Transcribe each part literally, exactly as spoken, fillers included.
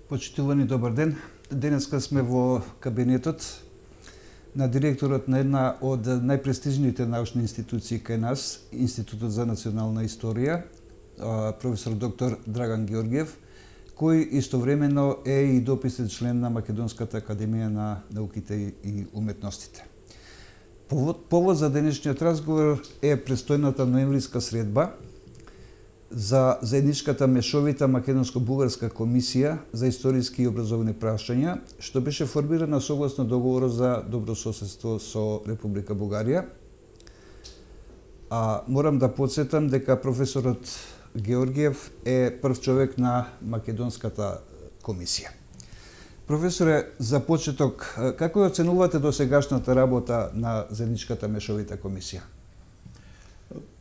Почитувани, добар ден. Денеска сме во кабинетот на директорот на една од најпрестижните научни институции кај нас, Институтот за национална историја, професор доктор Драган Георгиев, кој истовремено е и дописен член на Македонската академија на науките и уметностите. Повод, повод за денешниот разговор е престојната ноемвриска средба за заедничката мешовита македонско-бугарска комисија за историски и образовни прашања, што беше формирана согласно договорот за добрососедство со Република Бугарија. А морам да подсетам дека професорот Георгиев е прв човек на Македонската комисија. Професоре, за почеток, како ја оценувате досегашната работа на заедничката мешовита комисија?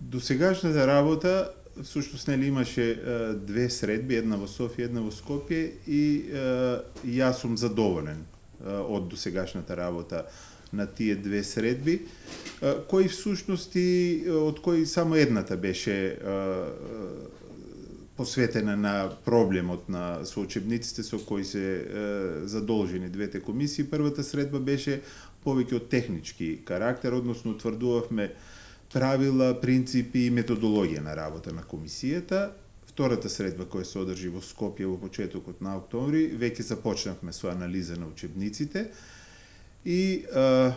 Досегашната работа всушност нели имаше е, две средби, една во Софија, една во Скопје и е, јас сум задоволен е, од досегашната работа на тие две средби, е, кои всушност и од кои само едната беше е, посветена на проблемот на со учебниците со кои се е, задолжени двете комисии. Првата средба беше повеќе од технички карактер, односно утврдувавме правила, принципи и методологија на работа на комисијата. Втората средба која се одржи во Скопје во почетокот на октомври, веќе започнавме со анализа на учебниците и а,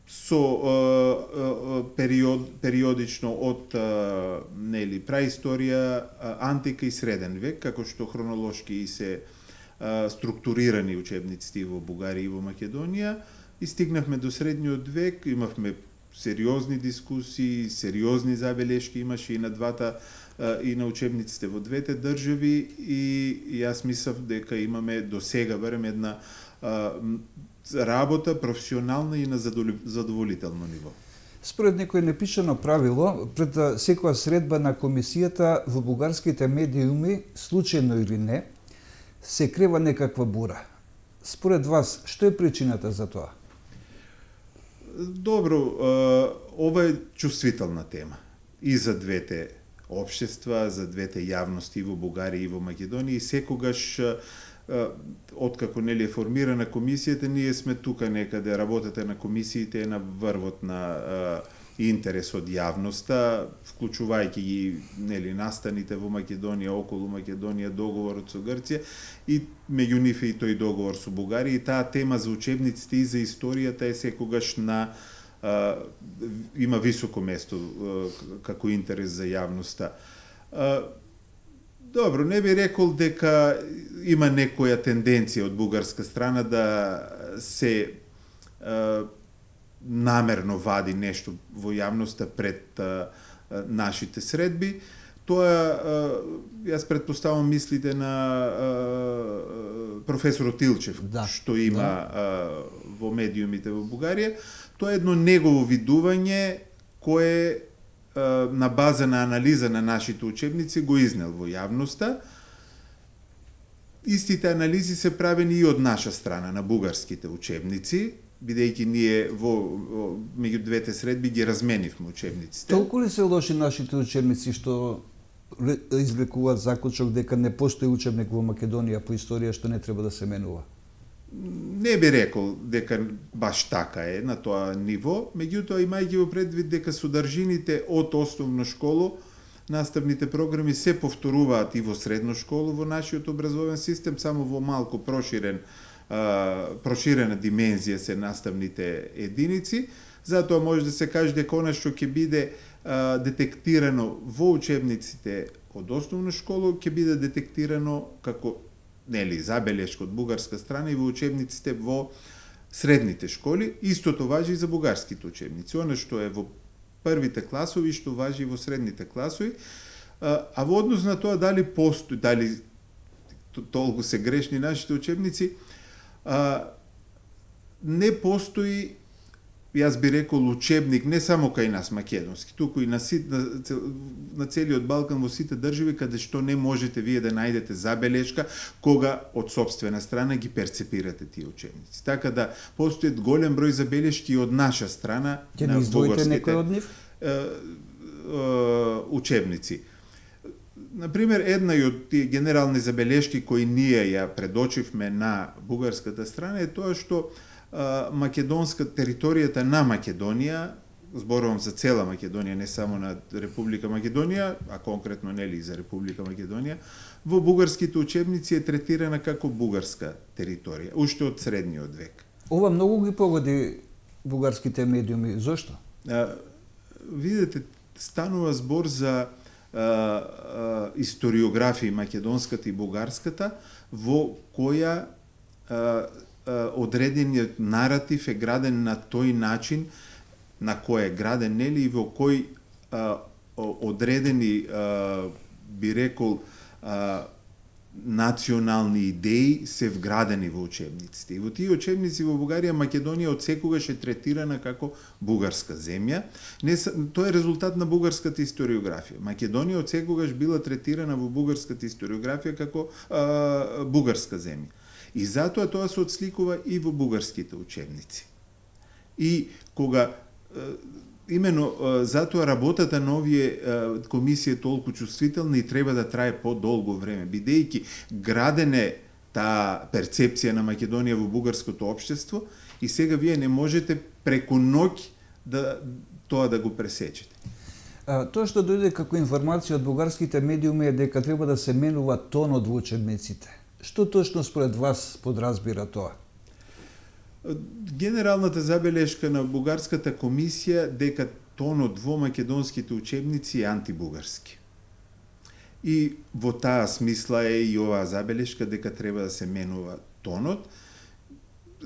со а, а, период, периодично од а, нели праисторија, а, антика и среден век, како што хронолошки се а, структурирани учебниците во Бугарија и во Македонија, и стигнавме до средниот век, имавме сериозни дискусии, сериозни забелешки имаше и на двата и на учебниците во двете држави, и јас мислам дека имаме до сега барем една а, работа професионална и на задоволително ниво. Според некој непишано правило, пред секоја средба на комисијата во бугарските медиуми, случајно или не, се крева некаква бура. Според вас, што е причината за тоа? Добро, ова е чувствителна тема и за двете општества, за двете јавности во Бугарија и во Македонија, и секогаш откако нели е формирана комисијата, ние сме тука некаде, работата на комисиите е на врвот на интерес од јавноста, вклучувајќи ги нели настаните во Македонија, околу Македонија, договорот со Грција и меѓу нив и тој договор со Бугарија, и таа тема за учебниците и за историјата е секогаш на а, има високо место а, како интерес за јавноста. А, добро, не би рекол дека има некоја тенденција од бугарска страна да се а, намерно вади нешто во јавноста пред а, а, нашите средби. Тоа, а, јас предпоставам мислите на а, професорот Илчев, да, што има да. а, во медиумите во Бугарија. Тоа е едно негово видување кое а, на база на анализа на нашите учебници го изнел во јавноста. Истите анализи се правени и од наша страна на бугарските учебници, бидејќи ние во, во меѓу двете средби ги разменивме учебниците. Толку ли се лоши нашите учебници што извлекуваат заклучок дека не постои учебник во Македонија по историја што не треба да се менува? Не би рекол дека баш така е на тоа ниво, меѓутоа имајќи во предвид дека содржините од основно школо, наставните програми се повторуваат и во средно школо во нашиот образовен систем, само во малку проширен проширена димензија се наставните единици. Затоа може да се каже дека она што ќе биде а, детектирано во учебниците од основна школа ќе биде детектирано како нели забелешка од бугарска страна и во учебниците во средните школи. Истото важи и за бугарските учебници. Она што е во првите класови, што важи и во средните класови, а, а во однос на тоа дали постои, дали толку се грешни нашите учебници, А, не постои, јас би рекол, учебник не само кај нас македонски, туку и на, на, на целиот Балкан во сите држави, каде што не можете вие да најдете забелешка кога од собствена страна ги перцепирате тие учебници. Така да постојат голем број забелешки од наша страна на бугарските некој од нив? Е, е, учебници. Например, една од тие генерални забелешки кои ние ја предочивме на бугарската страна е тоа што а, македонска територијата на Македонија, зборувам за цела Македонија, не само на Република Македонија, а конкретно нели за Република Македонија, во бугарските учебници е третирана како бугарска територија, уште од средниот век. Ова многу ги погоди бугарските медиуми. Зошто? А, видете, станува збор за а, а, историографија македонската и бугарската, во која а, а, одредениот наратив е граден на тој начин на кој е граден, нели, и во кој а, одредени, а, би рекол, а, национални идеи се вградени во учебниците. И во тие учебници во Бугарија Македонија од секогаш е третирана како бугарска земја. Не, тоа е резултат на бугарската историографија. Македонија од секогаш била третирана во бугарската историографија како а, бугарска земја. И затоа тоа се отсликува и во бугарските учебници. И кога имено затоа работата на овие комисии е толку чувствителна и треба да трае подолго време, бидејќи градене таа перцепција на Македонија во бугарското општество и сега вие не можете преку ноќ да тоа да го пресечете. А, тоа што дојде како информација од бугарските медиуми е дека треба да се менува тонот во учебниците. Што точно според вас подразбира тоа? Генералната забелешка на бугарската комисија дека тонот во македонските учебници е антибугарски. И во таа смисла е и оваа забелешка дека треба да се менува тонот.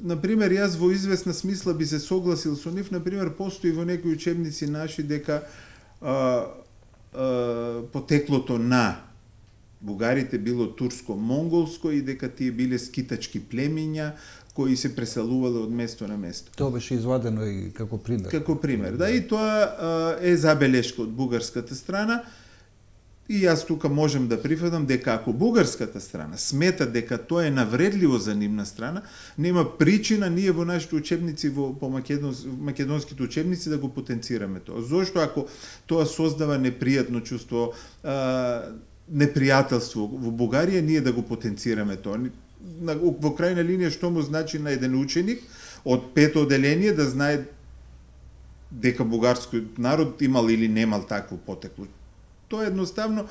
Например, јас во известна смисла би се согласил со нив, например, постои во некои учебници наши дека а, а, потеклото на бугарите било турско-монголско и дека тие биле скитачки племиња кои се преселувале од место на место. Тоа беше извадено и како пример. Како пример, да, и тоа а, е забелешка од бугарската страна. И јас тука можем да прифатам дека ако бугарската страна смета дека тоа е навредливо за нивна страна, нема причина ние во нашите учебници, во по македонс, македонските учебници да го потенцираме тоа. Зошто ако тоа создава непријатно чувство, а, непријателство во Бугарија, ние да го потенцираме тоа. Во крајна линија што му значи на еден ученик од пето оделение да знае дека бугарскиот народ имал или немал такво потекло. Тоа едноставно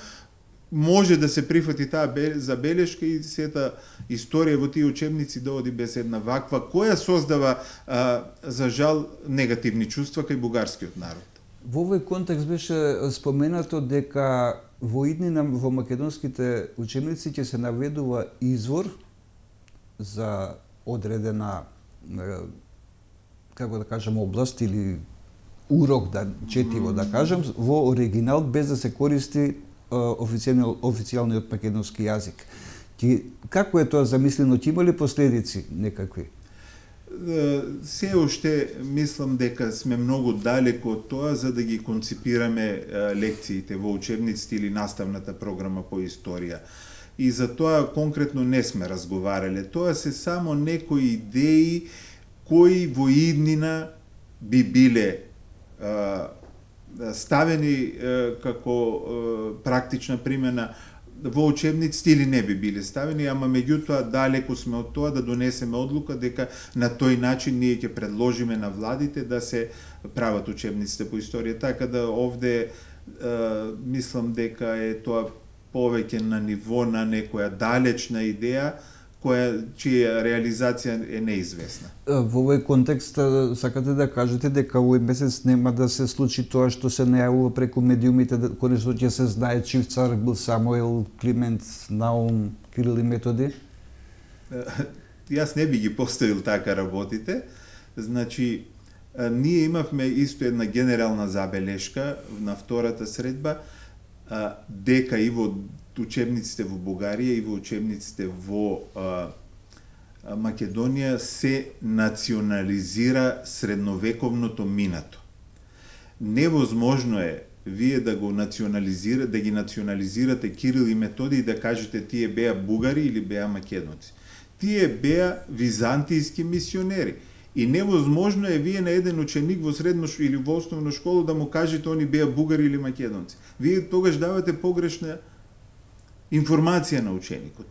може да се прифати таа забелешка и сета историја во тие учебници да оди без една ваква, која создава, а, за жал, негативни чувства кај бугарскиот народ. Во овој контекст беше споменато дека во иднина во македонските учебници ќе се наведува извор за одредена, како да кажем, област или урок да четиво да кажем во оригинал без да се користи официјалниот официјалниот македонски јазик. Ти како е тоа замислено? Ти има ли последици некакви? Се уште мислам дека сме многу далеко од тоа за да ги конципираме лекциите во учебниците или наставната програма по историја. И за тоа конкретно не сме разговарале. Тоа се само некои идеи кои во иднина би биле а, ставени а, како а, практична примена во учебниците или не би биле ставени, ама меѓутоа далеко сме од тоа да донесеме одлука дека на тој начин ние ќе предложиме на владите да се прават учебниците по историја. Така да овде а, мислам дека е тоа повеќе на ниво на некоја далечна идеја која чија реализација е неизвестна. Во овој контекст сакате да кажете дека овој месец нема да се случи тоа што се најавува преку медиумите, конечно ќе се знае чив цар бил Самуил, Климент, Наум, Кирил и Методи? Јас не би ги поставил така работите. Значи, ние имавме исто една генерална забелешка на втората средба, дека и во учебниците во Бугарија и во учебниците во а, Македонија се национализира средновековното минато. Невозможно е вие да го национализирате, да ги национализирате Кирил и Методи и да кажете тие беа бугари или беа македонци. Тие беа византијски мисионери. И невозможно е вие на еден ученик во средно или во основно школа да му кажете они беа бугари или македонци. Вие тогаш давате погрешна информација на ученикот.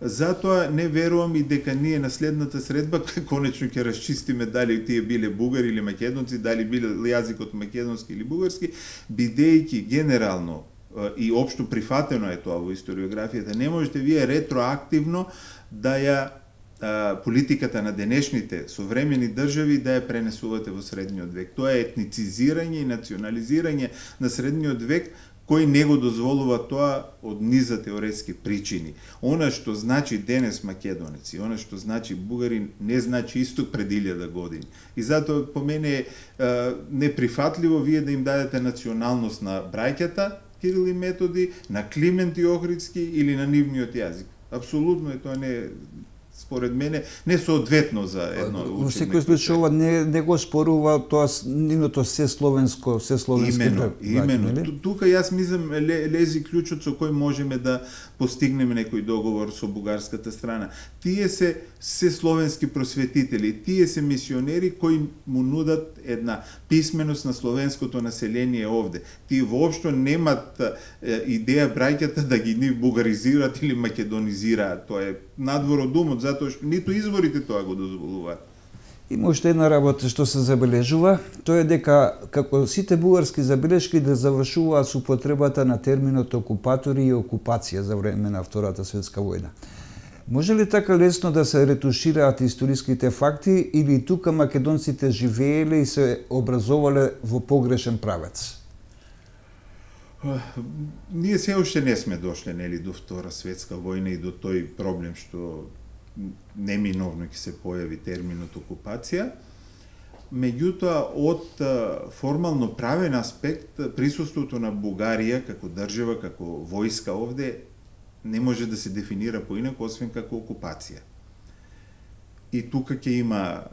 Затоа не верувам и дека ние на следната средба конечно ќе расчистиме дали тие биле бугари или македонци, дали биле јазикот македонски или бугарски, бидејќи генерално и општо прифатено е тоа во историографијата, не можете вие ретроактивно да ја а, политиката на денешните современи држави да ја пренесувате во средниот век. Тоа е етницизирање и национализирање на средниот век, кој не го дозволува тоа од низа теоретски причини. Она што значи денес македонец и она што значи бугарин не значи исто пред илјада години. И затоа по мене е неприфатливо вие да им дадете националност на браќата Кирил и Методи, на Климент и Охридски или на нивниот јазик. Апсолутно е тоа не според мене не соодветно за едно учење. Во секој случај ова не не го спорува тоа нивното се словенско, се словенски. Имено, имено. Тука јас мислам лези клучот со кој можеме да постигнеме некој договор со бугарската страна. Тие се се словенски просветители, тие се мисионери кои му нудат една писменост на словенското население овде. Тие воопшто немат идеја браќата да ги ни бугаризираат или македонизираат. Тоа е надвор од умот, затоа што ниту изворите тоа го дозволуваат. Има уште една работа што се забележува, тоа е дека како сите бугарски забелешки да завршуваат со употребата на терминот окупатори и окупација за време на Втората светска војна. Може ли така лесно да се ретушираат историските факти или тука македонците живееле и се образовале во погрешен правец? Ние се уште не сме дошле нели до Втора светска војна и до тој проблем што неминовно ќе се појави терминот окупација. Меѓутоа, од формално правен аспект, присуството на Бугарија како држава, како војска овде, не може да се дефинира поинако, освен како окупација. И тука ќе има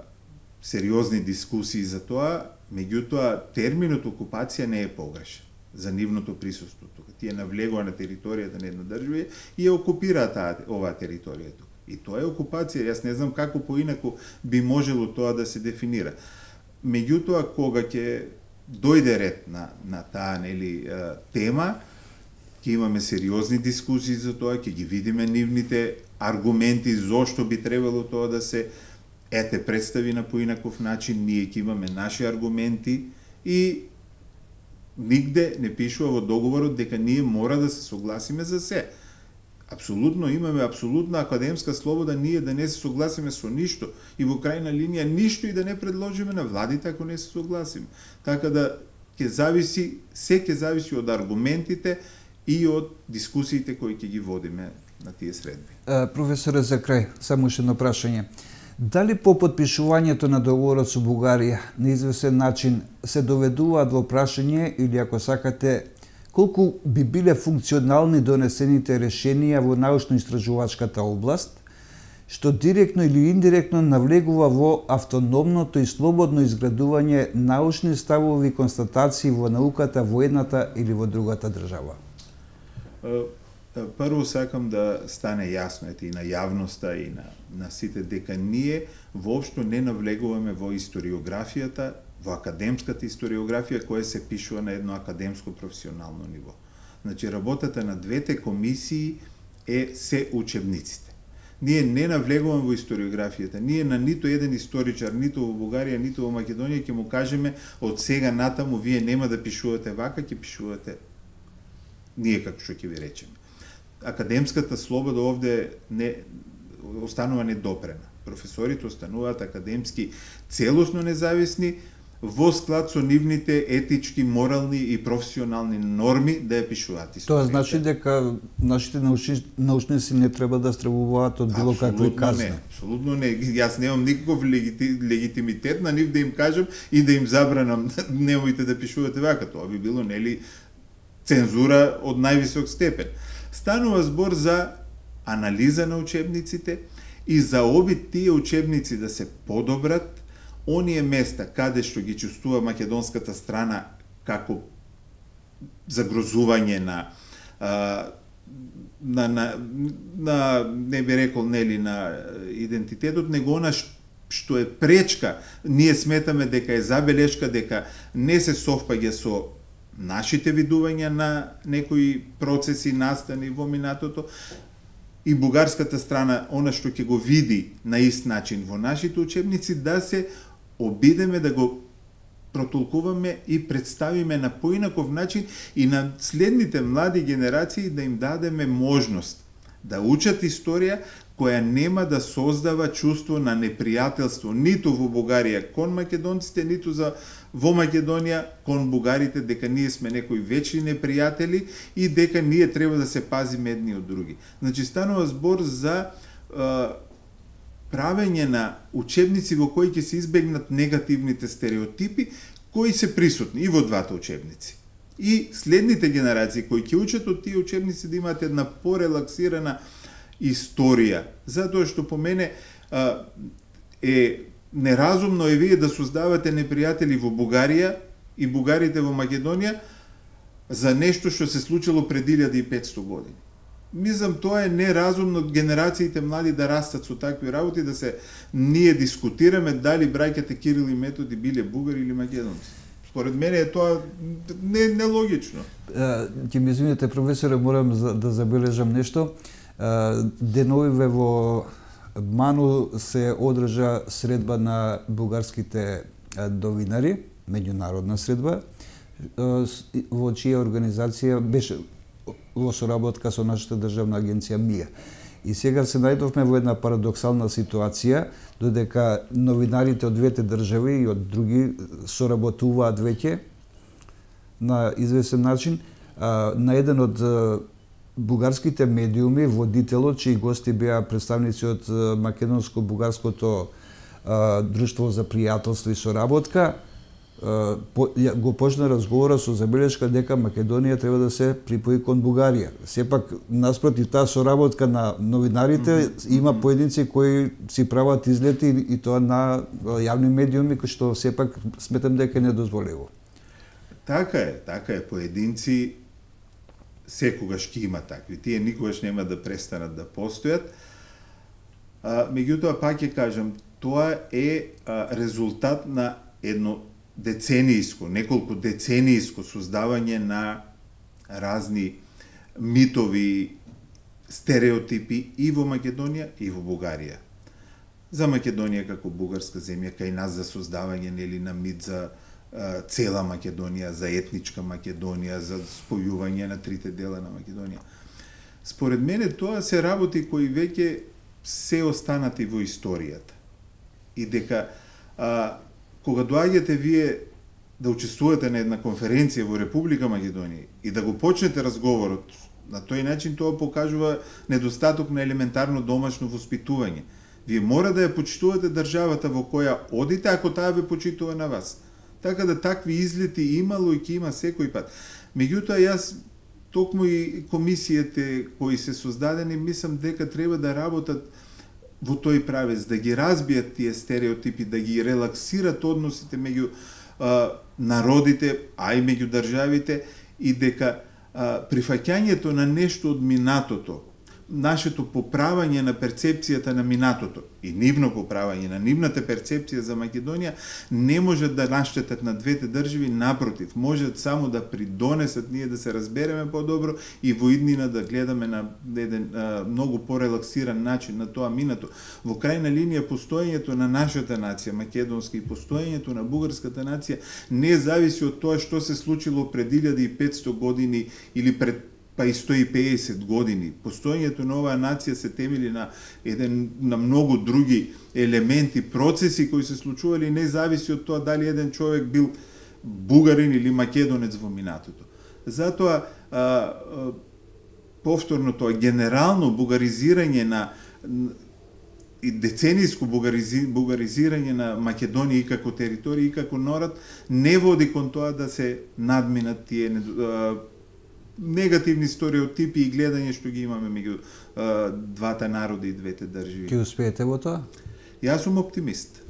сериозни дискусии за тоа, меѓутоа, терминот окупација не е погрешен за нивното присуство тука. Тие навлегува на територијата на една држава и ја окупираат таа оваа територија тука. И тоа е окупација, јас не знам како поинаку би можело тоа да се дефинира. Меѓутоа, кога ќе дојде ред на, на таа нели тема, ќе имаме сериозни дискусии за тоа, ќе ги видиме нивните аргументи зошто би требало тоа да се ете представи на поинаков начин, ние ќе имаме наши аргументи и нигде не пишува во договорот дека ние мора да се согласиме за се. Апсолутно имаме апсолутна академска слобода ние да не се согласиме со ништо и во крајна линија ништо и да не предложиме на владите ако не се согласиме. Така да ќе зависи, се ќе зависи од аргументите и од дискусиите кои ќе ги водиме на тие средби. Професоре, за крај, само уште едно прашање. Дали по потпишувањето на договорот со Бугарија на известен начин се доведуваат во прашање или ако сакате колку би биле функционални донесените решенија во научно-истражувачката област, што директно или индиректно навлегува во автономното и слободно изградување научни ставови и констатации во науката во едната или во другата држава? Прво сакам да стане јасно и на јавноста и на, на сите дека ние воопшто не навлегуваме во историографијата, во академската историографија која се пишува на едно академско професионално ниво. Значи, работата на двете комисии е се учебниците. Ние не навлегуваме во историографијата. Ние на ниту еден историчар, ниту во Бугарија, ниту во Македонија ќе му кажеме од сега натаму вие нема да пишувате вака, ќе пишувате ние како што ќе ви речеме. Академската слобода овде не останува недопрена. Професорите остануваат академски целосно независни во склад со нивните етички, морални и професионални норми да ја пишуваат историјата. Тоа значи дека нашите научни, научници не треба да стравуваат од било какви казни. Не, апсолутно не. Јас немам никаков легити, легитимитет на нив да им кажам и да им забранам немојте да пишувате вака. Тоа би било нели цензура од највисок степен. Станува збор за анализа на учебниците и за обид тие учебници да се подобрат, оние места каде што ги чувствува македонската страна како загрозување на а, на, на, на не би рекол нели на идентитетот, него она што е пречка, ние сметаме дека е забелешка, дека не се совпаѓа со нашите видувања на некои процеси настани во минатото и бугарската страна, она што ќе го види на ист начин во нашите учебници, да се обидеме да го протолкуваме и представиме на поинаков начин и на следните млади генерации да им дадеме можност да учат историја која нема да создава чувство на непријателство ниту во Бугарија кон македонците, ниту за во Македонија кон бугарите, дека ние сме некои вечни непријатели и дека ние треба да се пазиме едни од други. Значи станува збор за е, правење на учебници во кои ќе се избегнат негативните стереотипи кои се присутни и во двата учебници. И следните генерации кои ќе учат од тие учебници да имаат една порелаксирана историја, затоа што по мене а, е неразумно е вие да создавате непријатели во Бугарија и бугарите во Македонија за нешто што се случило пред илјада и петсто години. Мислам, тоа е неразумно генерациите млади да растат со такви работи, да се ние дискутираме дали браќите Кирил и Методи биле бугари или македонци. Според мене е тоа не нелогично. Ќе ми извините, професоре, морам да забележам нешто. Деновиве во Ману се одржа средба на бугарските новинари, меѓународна средба, во чија организација беше во соработка со нашата државна агенција МИА. И сега се најдовме во една парадоксална ситуација, додека новинарите од двете држави и од други соработуваат веќе на известен начин. На еден од бугарските медиуми, водителот, чии гости беа представници од македонско-бугарското друштво за пријателство и соработка, го почна разговора со забелешка дека Македонија треба да се припои кон Бугарија. Сепак, наспроти таа соработка на новинарите, mm -hmm. има поединци кои си прават излети и тоа на јавни медиуми, кои што сепак сметам дека не дозволиво. Така е, така е. Поединци секогаш ќе има такви. Тие никогаш нема да престанат да постојат. А, меѓутоа, пак ќе кажам, тоа е а, резултат на едно деценијско, неколку деценијско создавање на разни митови, стереотипи и во Македонија и во Бугарија. За Македонија како бугарска земја, кај нас за создавање нели на мит за а, цела Македонија, за етничка Македонија, за спојување на трите дела на Македонија. Според мене тоа се работи кои веќе се останати во историјата. И дека а, кога доаѓате вие да учествувате на една конференција во Република Македонија и да го почнете разговорот, на тој начин тоа покажува недостаток на елементарно домашно воспитување. Вие мора да ја почитувате државата во која одите, ако таа ве почитува на вас. Така да такви излети имало и ќе има секој пат. Меѓутоа, јас токму и комисиите кои се создадени, мислам дека треба да работат во тој правец, да ги разбијат тие стереотипи, да ги релаксират односите меѓу а, народите, а и меѓу државите, и дека а, прифаќањето на нешто од минатото, нашето поправање на перцепцијата на минатото и нивно поправање на нивната перцепција за Македонија не можат да наштетат на двете држави, напротив, можат само да придонесат ние да се разбереме подобро и во иднина да гледаме на еден а, многу порелаксиран начин на тоа минато. Во крајна линија, постоењето на нашата нација македонска и постоењето на бугарската нација не зависи од тоа што се случило пред илјада и петсто години или пред па и сто и педесет години. Постоењето на оваа нација се темели на еден на многу други елементи, процеси кои се случували, не зависи од тоа дали еден човек бил бугарин или македонец во минатото. Затоа а, а, повторно тоа генерално бугаризирање на и деценијско бугаризи, бугаризирање на Македонија и како територија и како народ не води кон тоа да се надминат тие а, негативни стереотипи и гледање што ги имаме меѓу двата народи и двете држави. Ќе успеете во тоа? Јас сум оптимист.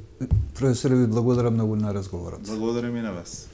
Професоре, ви благодарам многу на разговорот. Благодарам и на вас.